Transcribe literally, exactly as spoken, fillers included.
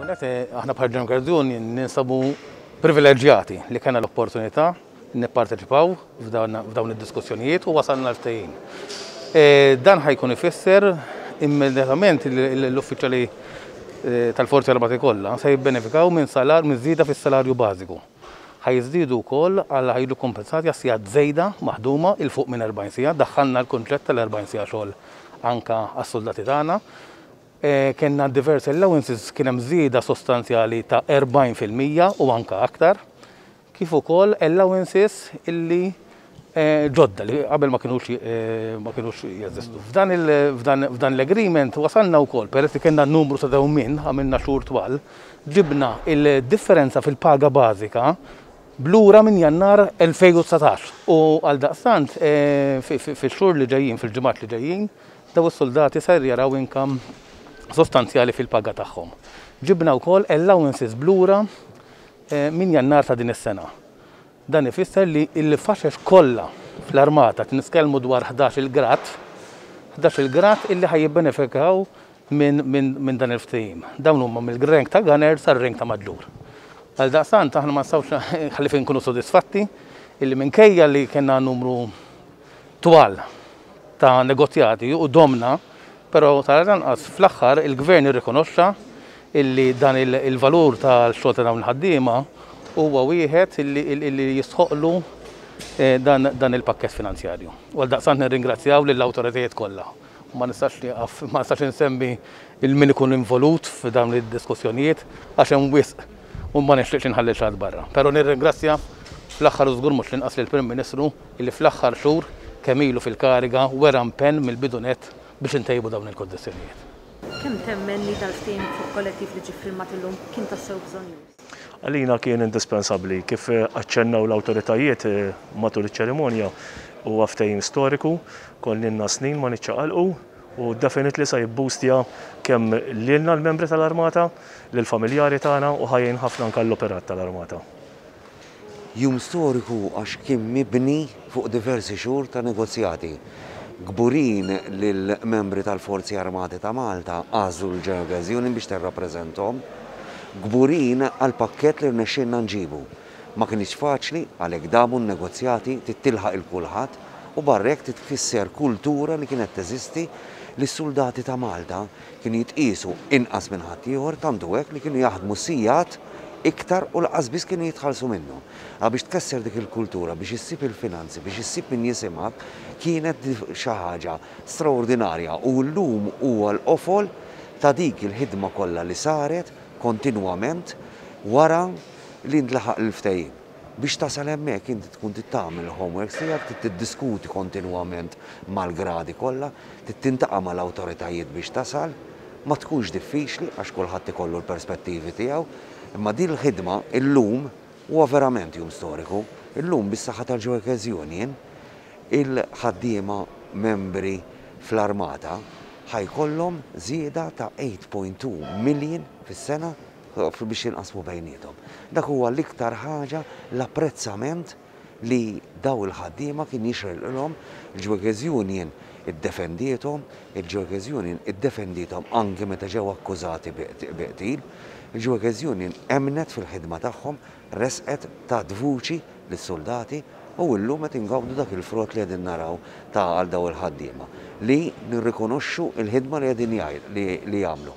Aħna bħal General Workers Union ninsabu privileġġjati li kellna l-opportunità nipparteċipaw f'dawn id-diskussjonijiet u wasalna l-ftehim. Dan ħa jkun ifisser immedjatament l-uffiċjali tal-Forzi Armati kollha se jibbenefikaw minn salar minn żieda fis-salarju bażiku. Ħa jiżdiedu wkoll għal ħa jiġu kompensati għas sigħat żejda maħduma 'il fuq minn erbgħin siegħa, daħħalna l-kunċett tal-erbgħin siegħa xogħol anka għas-soldati tagħna. Kellna diversi allowances, kien hemm żieda sostanzjali ta' erbgħin fil-mija u anka aktar, kif ukoll allowances illi ġodda li qabel ma kinux ma kinux jeżistu. F'dan f'dan l-agreement wasalna wkoll, peress li kellna numru ta' dewmien, għamilna xhur twal, ġibna il-differenza fil-paga bażika blura minn Jannar elfejn u dsatax. U għal daqstant fix-xhur li ġejjin, fil-ġimgħat li ġejjin, daw is-soldati ser jaraw income sostanzjali fil-paga tagħhom. Ġibna wkoll allowances blura minn Jannar ta' din is-sena. Dan ifisser li l-faxex kollha fl-armata nitkellmu dwar ħdax-il grad, ħdax-il grad illi ħaj jibbenefikaw minn, minn, minn dan il-ftehim. Dawn huma mill-rank ta' gunner sar-rank ta' maġġur. Għal daqstant aħna ma nistgħux ħalli fejn nkunu sodisfatti illi minkejja li kellna numru twal ta' negozjati u domna, però tal-anqas fl-aħħar il-gvern irrikonoxxa illi dan il-valur tal-xogħol ta' dawn il-ħaddiema huwa wieħed illi jistħoqlu dan, dan il-pakkett finanzjarju. U għal daqstant nirringrazzjaw lill-awtoritajiet kollha. Ma nistax nieqaf, ma nistax insemmi il min ikun involut f'dawn id-diskussjonijiet għax hemm wisq u ma nixtieqx inħalli xi ħadd barra. Però nirringrazzja fl-aħħar u żgur mhux l-inqas lill-Prim Ministru illi fl-aħħar xhur kemm ilu fil-kariga wera impenn mill-bidu nett biex intejbu dawn il-kondizzjonijiet. Kemm temmen li dal-ftehim fuq kollettiv li ġie ffirmat illum kien tassew bżonjuż? Għalina kien indispensabbli kif aċċennaw l-awtoritajiet matul iċ-ċerimonja, huwa ftehim storiku, konna snin ma niċċaqalqu u definitely sa jibbustja kemm lilna l-membri tal-armata, lill-familjari tagħna u ħajjin ħafna anke l-operat tal-armata. Jum storiku għax kien mibni fuq diversi xhur ta' negozjati. Kburin lill-membri tal-Forzi Armati ta' Malta għażlu l-General Workers Union biex tirrappreżenthom. Kburin għal pakkett li rnexxielna nġibu. Ma kienx faċli għalhekk damu n-negozjati tittilħaq il kulħadd u barrek titkisser kultura li kienet teżisti li s-soldati ta' Malta kienu jitqisu inqas minn ħaddieħor, tantu hekk li kienu jaħdmu sigħat iktar u lanqas biss kienu jitħallsu minnu. Għal biex tkesser dik il-kultura, biex issib il-finanzi, biex issib min jisimgħek, kienet xi ħaġa straordinarja u llum huwa l-qofol ta' dik il-ħidma kollha li saret kontinwament wara li ntlaħaq il-ftehim. Biex tasal hemmhekk inti tkun trid tagħmel il-homework tiegħek, trid tiddiskuti kontinwament mal-gradi kollha, trid tintaqa' mal-awtoritajiet biex tasal, ma tkunx diffiċli għax kulħadd ikollu l-perspettivi tiegħu, imma din il-ħidma illum huwa verament jum storiku. Illum bis-saħħa tal-General Workers Union il-ħaddiema membri fl-armata ħajkollhom żieda ta' eight point two million fis-sena biex jinqasmu bejniethom. Dak huwa l-iktar ħaġa l-apprezzament li daw il-ħaddiema kien jixraqilhom. Il-General Workers Union iddefendiethom, il-General Workers Union iddefendiethom anke meta ġew akkużati bi qtil. Il-General Workers Union emnet fil-ħidma tagħhom, resqet ta' vuċi lis-soldati u llum qed ingawdu dak il-frott li qegħdin naraw ta' għal daw il-ħaddiema li nirrikonoxxu il-ħidma li qegħdin jgħid li, li jagħmlu.